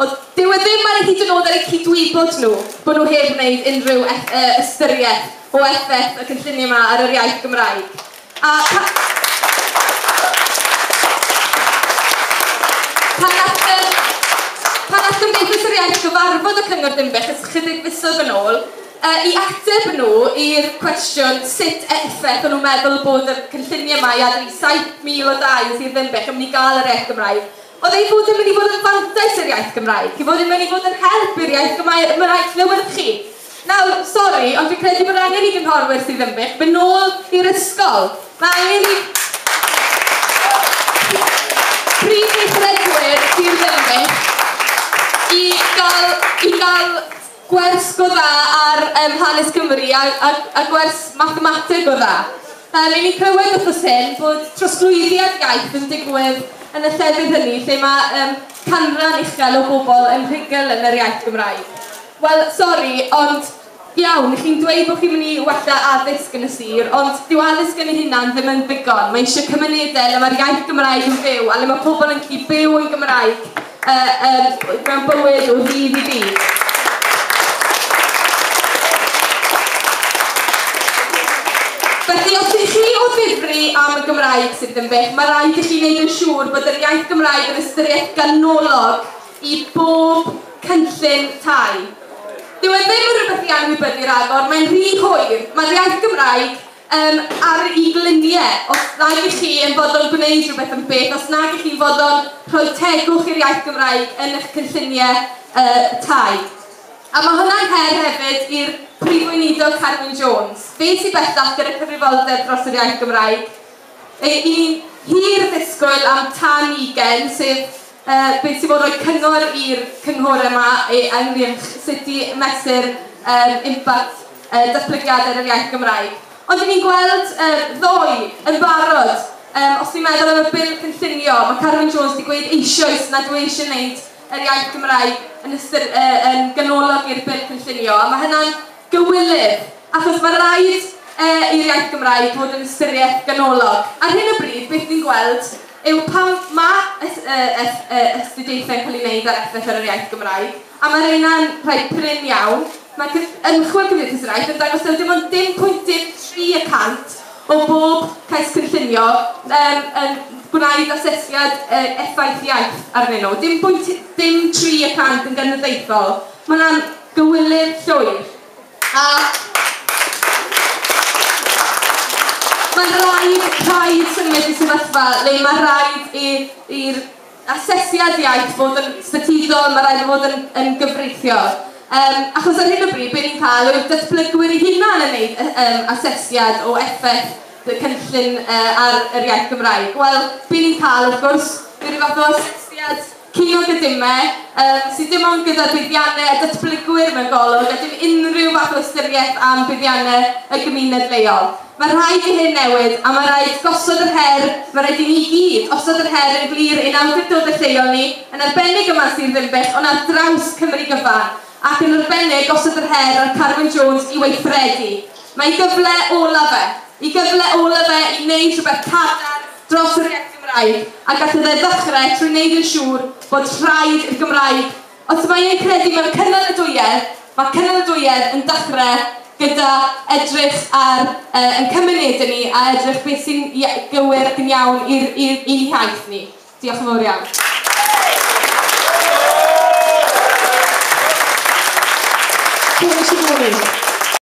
Oedd dyw e ddim ar eu hyd yn oed ar eu cydwybod nhw bod nhw heb wneud unrhyw ystyriaeth o effaith y cynlluniau yma ar yr iaith Gymraeg. A pan nath Cymdeithas yr Iaith gyfarfod y Cyngor Dinbych ychydig fisoedd yn ôl, i ateb nhw i'r cwestiwn sut effaith o'n nhw'n meddwl bod y cynlluniau yma i adael i 7,000 o dai yn Sir Ddinbych yn mynd i gael yr iaith Gymraeg, oedd ei fod yn mynd i fod yn fantais i'r iaith Gymraeg, ei fod yn mynd i fod yn help i'r iaith Gymraeg llewyrchu. Nawr, sori, ond dwi'n credu bod angen i gynghorwyr Sir Ddinbych mynd nôl i'r ysgol. Mae angen i prif weithredwyr Sir Ddinbych i gael gwers go dda ar hanes Cymru a gwers mathemateg go dda. I ni'n clywed wrthos hyn bod trosglwyddiad iaith yn digwydd yn y llefydd hynny lle mae canran uchel o bobl yn rhugl yn yr iaith Gymraeg. Wel, sori, ond iawn, chi'n dweud bod chi'n mynd i wella addysg yn y sir, ond dyw addysg yn ei hunan ddim yn ddigon. Mae eisiau cymunedau le mae'r iaith Gymraeg yn fyw a le mae pobl yn gallu byw yn Gymraeg mewn bywyd o ddydd i ddydd. Felly, os ydych chi o ddifri am y Gymraeg Sir Ddinbych, mae rhaid i chi wneud yn siŵr bod yr iaith Gymraeg yn ystyriaeth ganolog i bob cynllun tai. Dyw e ddim yn rhywbeth i anwybyddu ragor, mae'n rhy hwyr. Mae'r iaith Gymraeg ar ei gliniau. Os nag ych chi yn fodlon gwneud rhywbeth am beth, os nag ych chi'n fodlon rhoi tegwch i'r iaith Gymraeg yn eich cynlluniau tai. A mae hwnna'n her hefyd i'r Prif Weinidog Carwyn Jones. Fe sydd bellach gyda cyfrifoldeb dros yr iaith Gymraeg. Ni'n hir ddisgwyl am tan 20, sef beth sydd fod rhoi cyngor i'r cynghorau yma ynghylch sut i mesur impact datblygiadau yr iaith Gymraeg. Ond ni'n gweld ddoe yn barod, os ni'n meddwl am y bil cynllunio, mae Carwyn Jones wedi gweud eisoes nad yw eisiau gwneud yr iaith Gymraeg yn ganolog i'r bil cynllunio. A mae hynna'n gywilydd, achos mae rhaid i'r iaith Gymraeg fod yn ystyriaeth ganolog. Ar hyn o bryd, beth ni'n gweld yw pan mae astudiaethau'n cael ei wneud ar effaith ar yr iaith Gymraeg, a mae rheina'n rhai prin iawn. Mae ymchwil Cymdeithas yr Iaith yn dangos dim ond 0.03% o bob cais cynllunio yn gwneud asesiad effaith iaith arnyn nhw. 0.03% yn genedlaethol. Mae hwnna'n gywilydd llwyr. A mae'n rhaid symud i sefyllfa le mae rhaid i'r asesiad iaith fod yn statudol, mae rhaid fod yn gyfreithiol. Achos ar hyn o bryd, be ni'n cael yw'r datblygwyr eu hunain yn gwneud asesiad o effaith y cynllun ar yr iaith Gymraeg. Wel, be ni'n cael, wrth gwrs, yw rhyw fath o asesiad cino gydymau, sydd dim ond gyda buddiannau y datblygwyr mewn golwg a dim unrhyw fath o ystyriaeth am buddiannau y gymuned leol. Mae rhaid i hyn newid a mae rhaid gosod yr her, mae rhaid i ni gyd osod yr her yn glir i'n awdurdodau lleol ni, yn arbennig yma Sir Ddinbych, ond ar draws Cymru gyfan, ac yn arbennig gosod yr her ar Carwyn Jones i weithredu. Mae ei gyfle olaf e, i gyfle olaf e i wneud rhywbeth cadarn dros yr iaith Gymraeg, a gall e ddechrau trwy wneud yn siŵr bod rhaid i'r Gymraeg. Os mae e'n credu mewn cynaladwyedd, mae cynaladwyedd yn dechrau gyda edrych ar ein cymunedau ni a edrych beth sy'n gywir ac yn iawn i'n iaith ni. Diolch yn fawr iawn. Diolch yn fawr.